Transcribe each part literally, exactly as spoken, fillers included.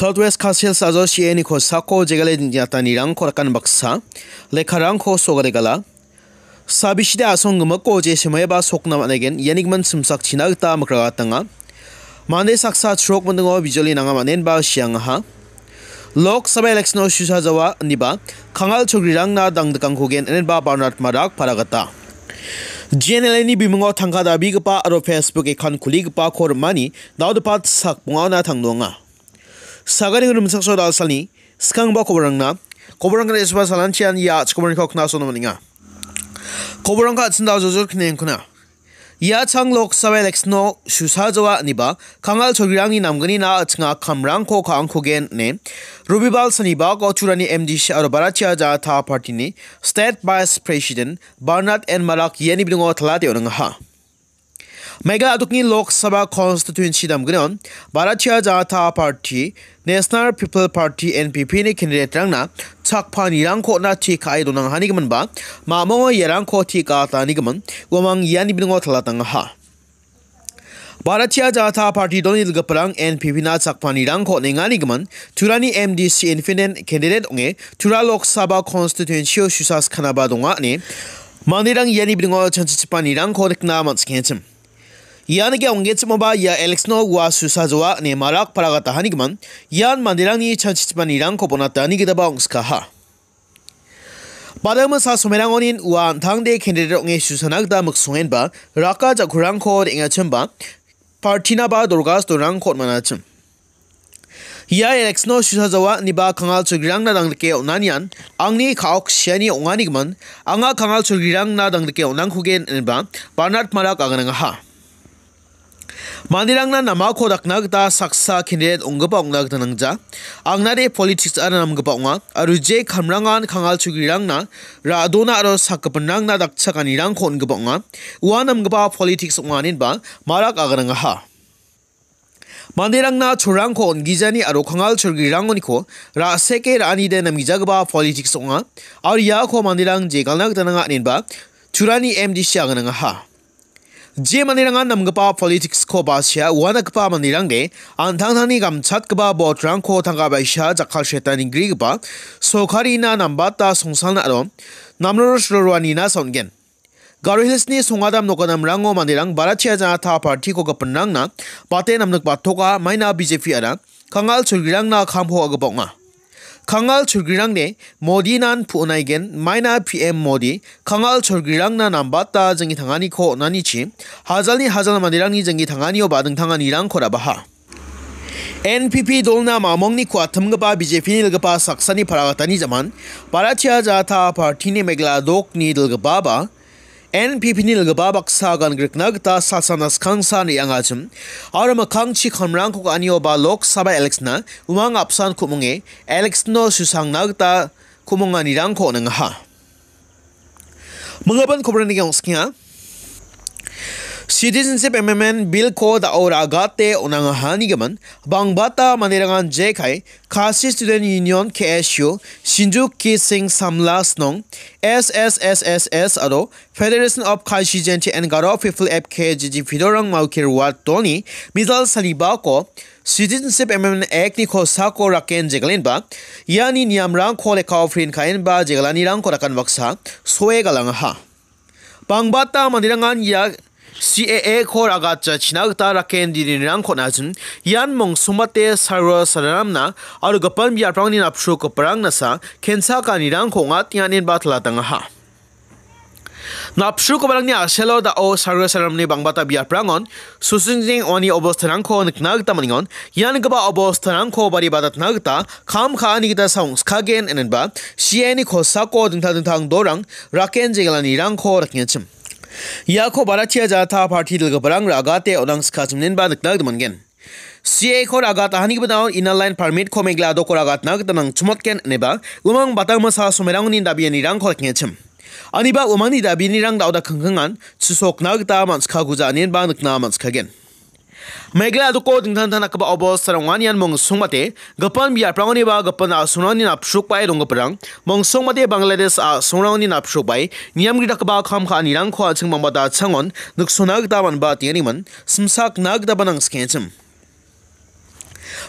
South West Khasi Hills ajo C A A ni kosako jegale dinjatanirangko rakan baksa lekkarangko sogaregala. Sabiside asong gimikko je semaiba sokna man·aigen, ianigimin simsakchina gita mikragatanga. Mande saksa chrok mindingo bijoli nanga man·enba siangaha. Lok Sabha election-o susa jawa, iniba Kangal Chogrirangna dangdikangkogen, inenba Bernard Marak paragata. G N L A-ni bimingo tangka dabigipa aro Facebook account kuligipako rimani, daodepat sakbongaona tangdoanga. Sagani rimchakso dalsalni skangba koborangna, koborangna esba salanchian ia chikoborangko knasona maninga. Koborangka atsinda jojor knengkuna. Ia chang Lok Sabha election-o susa jawa iniba Kangal Chogrirangni namgnina atsinga kamrangko ka·angkogen ine Robibal sanibako Turani M D C aro Bharatiya Janata Party-ni State Vice President Bernard N Marak iani bilingo talate on·angaha. Meghalaya adokni Lok Sabha constituency damgnion Bharatiya Janata Party, National People Party, N P P-ni candidate-rangna chakpanirangko on·a tikae donangahanigiminba, mamongo iarangko tikatanigimin, uamang iani bilingo talatangaha. Bharatiya Janata Party dolni dilgiparang N P P-na chakpanirangko on·enganigimin, Turani M D C independent candidate ong·e, Tura Lok Sabha constituency-o susa skanaba donga ine, manderang iani bilingo chanchichipanirangko nikna man·skenchim. Ian ge ong·genchimoba ia election-o ua susa joa ine Marak paragata hanigimin, ian manderangni chanchichipanirangko bonatani gitaba ong·skaha. Badang masa somerangonin ua an·tangde candidate ong·e susana gita miksongenba raka jakurangko re·angachimba partinaba dorgas dorangko on·manachim. Ia election-o susa jawa iniba Kangal Chogrirangna dangdike on·anian angni ka·ok siani ong·anigimin, anga Kangal Chogrirangna dangdike on·angkogen inenba Bernard Marak aganangaha. Manderangna namako dakna gita saksa candidate ong·gipa ong·na gita nangja. Angnade politics-ara namgipa ong·a, aro je kamrangan Kangal Chogrirangna ra·dona aro sakgipinrangna dakchakanirangko on·gipa ong·a. Ua namgipa politics ong·a inenba Marak aganangaha. Manderangna cholrangko on·gijani aro Kangal Chogrirangoniko ra·seke ra·anide namgijagipa politics ong·a. Aro iako manderang jegalna gita nanga inenba Turani M D C aganangaha. Je manderangan namgipa politics-ko basia uanakgipa manderangde an·tangtangni gamchatgipa vote-rangko tangka baisa jakkalseta ninggrigipa sorkarina nambata songsalna aro namrorosroroanina saon·gen. Garo Hills-ni songadam nokgadamrango manderang Bharatiya Janata Party-ko gipinrangna bate namnikbatoka, maina B J P-ara Kangal Chogrirangna kamko a·gipa ong·a. Kangal Chogrirangde Modinan pu·naigen, maina P M Modi Kangal Chogrirangna nambata jinggitanganiko on·anichi, hajalni hajal manderangni jinggitanganioba dingtanganirangko ra·baha. N P P dolna mamongni ku·atimgipa B J P-ni dilgipa saksani paragatani jaman, Bharatiya Janata Party-ni Meghalaya dokni dilgipaba, N P P-ni dilgipa baksa gan grikna gita salsana skangsa re·angachim, aro mikkangchi kamrangko ka·anioba Lok Sabha election-na umang apsan ku·monge election-o susangna gita ku·monganirangko on·angaha. Minggipa koborangni ong·skenga. Citizenship Amendment Bill-ko da·o ra·gate on·angahanigimin, bangbata manderangan jekai Khasi Student Union, K S U, Shinjuku Singh Samla Snong, S S S S S aro Federation of Khasi Jaintia and Garo People, F K G G, pidorang maukir wat doni, mijal sanibako, Citizenship Amendment Act-ni kosako raken jegalenba, iani niamrangko lekao print ka·enba jegalanirangko rakan baksa soe galangaha. Bangbata manderangan ia C A A-ko ra·gatjachina gita raken dirinirangko on·achim, ian mongsongbate sarwa sararamna aro gipin biaprangni napsrukgiparang nasa kensa ka·anirangko ong·atenga inenba talatangaha. Napsrukgiparangni a·selo da·o sarwa sararamni bangbata biaprangon susingjeng ong·ani obostarangko nikna gita man·engon. Ian gipa obostarangko bari batatna gita kam ka·ani gita saongskagen inenba C A A-ni kosako dingtang dingtang dorang raken jegalanirangko rakenchim. Iako Bharatiya Janata Party dilgiparang ra·gate on·angskachim inenba nikna gita man·gen. C A A-ko ra·gatahanigipa daon Inner Line Permit-ko Meghalaya doko ra·gatna gita nangchimotgen ineba umang batangmasa somerangoni dabianirangko rakenchim. Aniba umangni dabianirang da·oda kingkingan chisokna gita man·sikaguja inenba nikna man·sikagen. Meghalaya doko dingtang dingtang dakgipa obostarang ong·anian mongsongbate gipin biaprangoniba gipin a·songrangni napsrukbae donggiparang, mongsongbate Bangladesh a·songrangni napsrukbae niamgri dakgipa kam ka·anirangko an·ching bangbata changon niksona gita man·ba tengeniman simsakna gitaba nangsikenchim.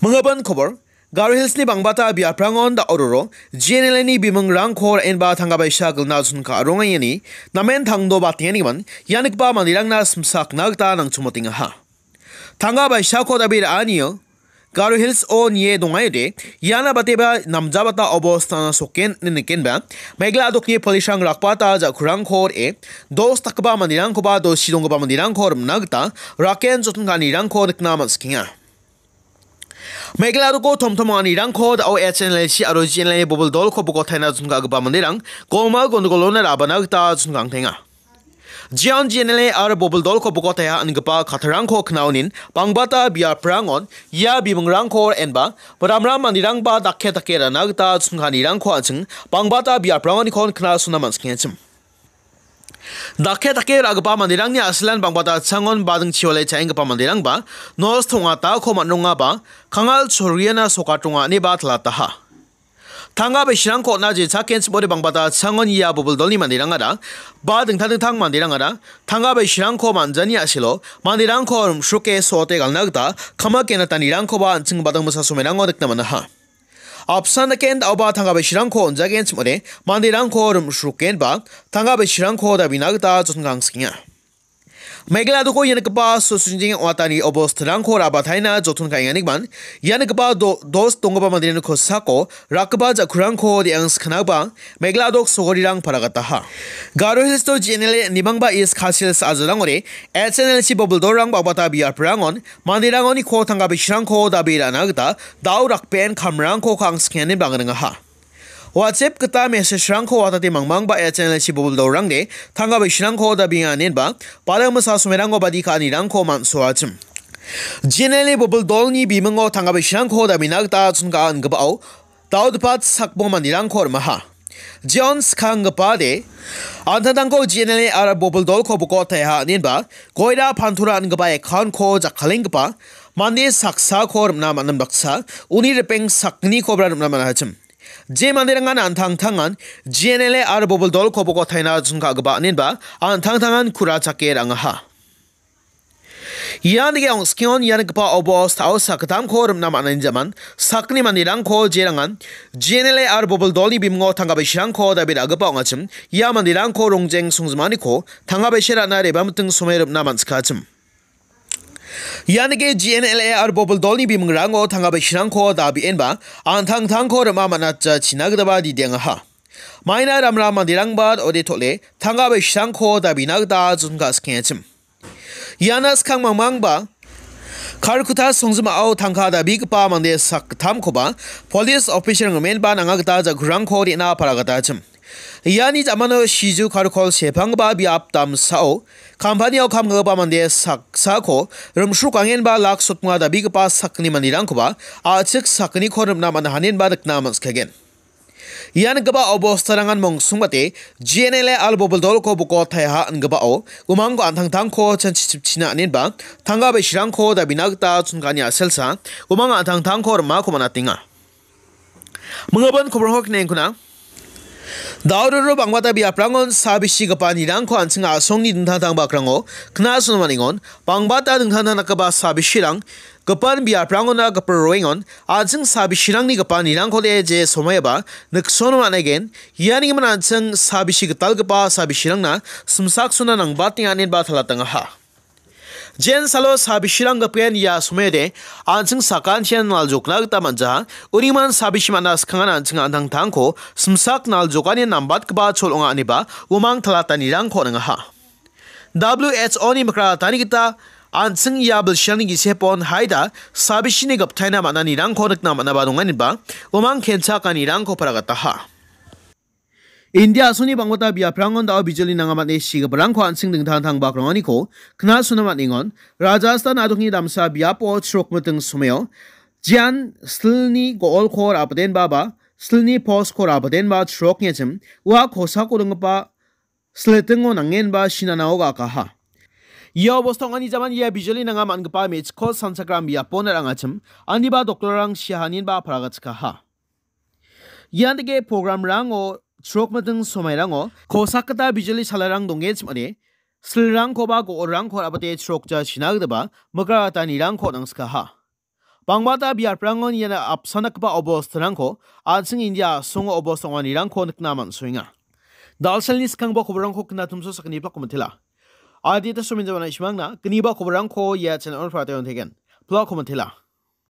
Minggipa kobor, Garo Hillsni bangbata biaprangon da·ororo G N L A-ni bimingrangko ra·enba tangka baisa gilna chonka·rongengani namen tangdobatenganigimin ia nikgipa manderangna simsakna gita nangchomotengaha. Tangka baisako dabi ra·anio Garo Hills-o nie dongaiode, iana bateba namjabata obostana soken ine nikenba, Meghalaya dokni polisrang rakbata ja·kurangko re·e, dos dakgipa manderangkoba dosi donggipa manderangko rimna gita raken joton ka·anirangko nikna man·sikenga. Meghalaya doko tomtom ong·anirangko da·o H N L C aro G N L A bobil dolko bokotaina chonka·gipa manderang goma gondogolona ra·bana gita chonka·angtenga. Jeon G N L A aro bobil dolko bokotaia ingipa kattarangko knaonin bangbata biaprangon ia bimingrangko ra·enba, ramram manderangba dake dake ra·na gita chonka·anirangko an·ching bangbata biaprangonikon knasona man·sikengachim. Dake dake ra·gipa manderangni a·silan bangbata changon bading chiwale cha·enggipa manderangba nosto ong·atako man·rongaba, kangal choriana sokatonga ineba talataha. Tangka baisirangko on·a jechakenchimode bangbata changon ia bobil dolni manderangara ba dingtang dingtang manderangara tangka baisirangko man·jani a·selo manderangko rim·sroke so·ote galna gita kamak genatanirangkoba an·ching badang misa somerango nikna man·aha. Apsan daken da·oba tangka baisirangko on·jagenchimode manderangko rim·srokenba tangka baisirangko dabina gita joton ka·angsikenga. Meghalaya doko ia nikgipa sosinjing ong·atani obostarangko ra·bataina joton ka·enganigimin, ia nikgipa do-, dos donggipa manderangni kosako rakgipa ja·kurangko re·angsikanagipa Meghalaya dok sogorirang paragataha. Garo Hills-o G N L A nimangba East Khasi Hills a·jalarangore H N L C bobil dolrang bangbata biaprangon manderangoniko tangka baisirangko dabi ra·na gita da·o rakben kamrangko ka·angsikenganin bang·ringaha. WhatsApp gita message-rangko watate mangmangba H N L C bobil dolrangde tangka baisirangko dabienganinba, badang misa somerangko badi ka·anirangko man·soachim. G N L A bobil dolni bimingo tangka baisirangko dabina gita chonka·angipao, da·o dipat sakbong manderangko rimaha. Jeon skanggipade, an·tangtangko G N L A aro bobil dolko bokotaia inenba, Goira Pantura ingipa account-ko jakkalenggipa mande saksako rim·na man·a baksa, uni ripeng sakgnikoba rim·na man·achim. Je manderangan an·tangtangan G N L A aro bobil dolko bokotaina chonka·gipa inenba an·tangtangan kura chake ra·angaha. Ian dake ong·skengon ia nikgipa obostao sakgittamko rim·na man·ani jaman, sakgni manderangko jerangan G N L A aro bobil dolni bimingo tangka baisirangko dabi ra·gipa ong·achim, ia manderangko rongjeng songjimaniko tangka baise ra·na reba miting some rim·na man·sikachim. Ian dake G N L A aro bobil dolni bimingrango tangka baisirangko dabi·enba an·tangtangko rim·a man·atjachina gitaba didiangaha. Maina ramram manderangba ode tole tangka baisirangko dabina gita chonka·skengachim. Iana skang mangmangba Kharkutta songjimao tangka dabigipa mande sakgittamkoba police officer-rang rimenba nanga gita ja·kurangko re·na paragatachim. Iani ja·mano Siju Karkol sepanggipa biap damsao kampanio kam ka·gipa mande saksako rim·srokangenba lak sotma dabigipa sakgni manderangkoba a·chik sakgniko rim·na man·a inenba nikna man·sikagen. Ian gipa obostarangan mongsongbate G N L A aro bobil dolko bokotaia ingipao umangko an·tangtangko chanchichipchina inenba tangka baisirangko dabina gita chonka·ani a·selsa umang an·tangtangko rim·ako man·atenga. Mingabon koborangko knaengkuna. Dauroro bangbata biaprangon sabisigipa nirangko an·ching a·songni dingtang dingtang bakrango knasona man·engon, bangbata dingtang dingtang dakgipa sabisirang gipin biaprangona gipin roengon, an·ching sabisirangni gipa nirangkode je somoiaba niksono man·aigen, iani gimin an·ching sabisi gitalgipa sabisirangna simsaksona nangbatenga inenba talatangaha. Jen salo sabisirang gipin ia somoiode an·ching sakantian naljokna gita man·jaha, uniman sabisi man·a skangan an·ching an·tangtangko simsak naljokani nambatgipa chol ong·a ineba umang talatanirangko on·angaha. W H O-ni mikratani gita an·ching ia bilsirangni gisepon haida sabisini giptaina man·anirangko nikna man·aba donga ineba umang kenchakanirangko paragataha. India a·songni bangbata biaprangon da·o bijoli nanga man·e sigiparangko an·ching dingtang dingtang bakranganiko knasona man·engon. Rajasthan a·dokni damsa biapo chrok miting somao jian silni go·olko ra·batenba ba silni post-ko ra·batenba chrokni a·chim ua kosako donggipa silitingo nangenba sinanao ga·akaha. Ia obostao ong·ani jaman ia bijoli nanga man·gipa me·chikko sanchakram biapona ra·angachim, aniba doktorrang siahaninba paragatchikaha. Ian dake programrango chrok miting somairango kosak gita bijoli salarang dongechim ong·ode, silrangkoba go·orangko ra·bate chrokja sina gitaba mikratanirangko on·angskaha. Bangmata biaprangon iana apsan dakgipa obostarangko an·ching India a·songo obosta ong·anirangko nikna man·soenga. Dalsalni skanggipa koborangko knatumso sakgniba komitela. Adita somin jawana ishmangna gniba koborangko ia channel-on pratayonthegen. Pla komitela.